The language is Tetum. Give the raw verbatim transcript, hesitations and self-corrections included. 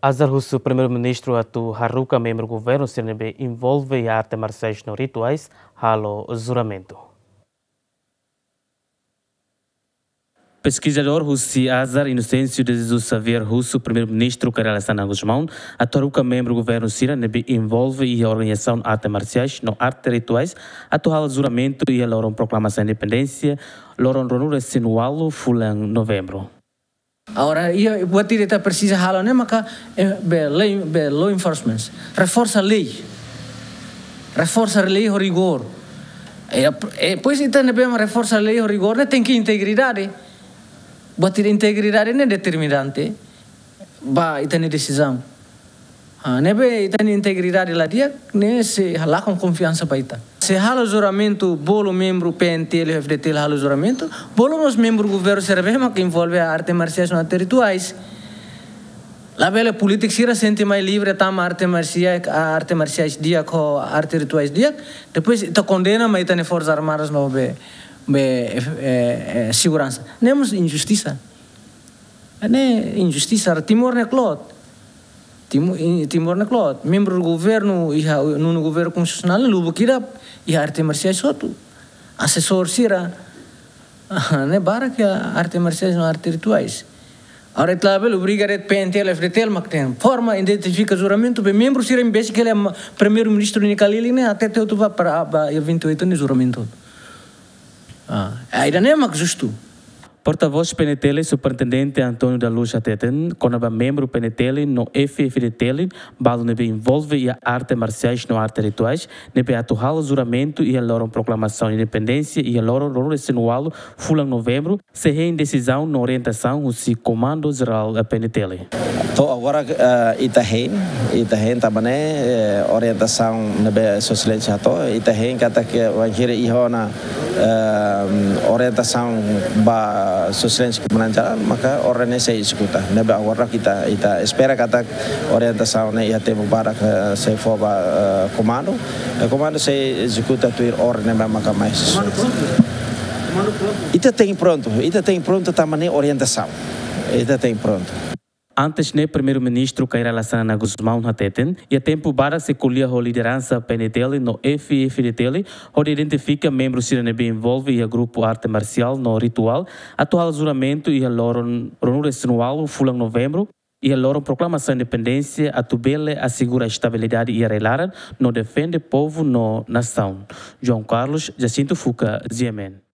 Azar husu Primeiru-Ministru atu haruka membru governu sira ne'ebé envolve iha arte marsiais no rituais halo juramentu. Peskizadór husi Azar, Inocêncio de Jesus Xavier, husu Primeiru-Ministru Kay Rala Xanana Gusmão atu haruka membru governu sira ne'ebé envolve iha organizasaun arte marsiais no arte rituais atu halo juramentu iha loron proklamasaun independénsia, loron ruanulu-resin-ualu fulan Novembru. Agora, iha buat ida ita presiza halo ne'e maka, eh, be lei, be law enforcement. Reforsa lei. Reforsa lei ho rigór. E, e, depois ita ne'ebé mak reforsa lei ho rigór ne'e tenke integridade. Buat ida integridade ne'e determinante ba ita-nia desizaun. Ah, ne'ebé ita-nia integridade la di'ak, ne'e sei lakon konfiansa ba ita. Sei halo juramentu, bolu membru P N T L, F D T L halo juramentu, bolu mós membru governu sira ne'ebé mak envolve arte marsiais no arte rituais. Labele polítiku sira sente mai livre tama arte marsiais, arte marsiais di'ak ho arte rituais di'ak, depois ita kondena mai ita-nia Forsas Armadas no be, be, eh, eh, seguransa. Ne'e mós injustisa. Ne'e injustisa, Timor ne'e kloot. Timu-, i-, Timor ne'e kloot. Membru governu iha nonu governu konstitusionál ne'e lubuk ida iha arte marsiais hotu. Asesór sira. Ne'e barak iha arte marsiais no arte rituais. Agora ita labele obriga de'it P N T L, F D T L mak tenke forma, identifika juramentu, be membru sira imbésil ke le ma-, Primeiru-Ministru nia kalili ne'e hatete hotu ba, para, ba, iha vinte e oito ne'e juramentu. Ah, ida-ne'e mak justu. Portavós P N T L, Superintendente António da Luz hateten, kona-ba membru P N T L no F F D T L, balu ne'ebé envolve iha arte marsiais no arte rituais, ne'ebé atu halo juramentu iha loron proklamasaun independénsia iha loron ruanulu-resin-ualu fulan Novembru, sei hein desizaun no orientasaun husi Komandu Jerál P N T L. To'o agora, eh, ita hein, ita hein tanba ne'e, eh, orientasaun ne'ebé Sua Exelénsia hato'o, ita hein katak bainhira iha ona, eh, orientasaun ba Sua Exelénsia Komandante Jerál, maka orden ne'e sei ezekuta. Ne'ebé agora ita, ita espera katak orientasaun ne'e iha tempu badak, eh, sei fó ba, eh, komandu. Eh, komandu sei ezekuta tuir orden ne'ebé maka mai. Komandu prontu? Komandu prontu? Ita tenke prontu, ita tenke prontu tanba ne'e orientasaun. Ita tenke prontu. Antes ne'e, Primeiru-Ministru Kay Rala Xanana Gusmão hateten, iha tempu badak sei ko'alia ho lideransa P N T L no F F D T L, hodi identifika membru sira ne'ebé envolve iha grupu arte marsiál no rituál, atu halo juramentu iha loron ruanulu-resin-ualu fulan Novembru, iha loron proklamasaun independénsia, atu bele asegura estabilidade iha rai-laran no defende povu no nasaun. João Carlos Jacinto Fuca, G M N.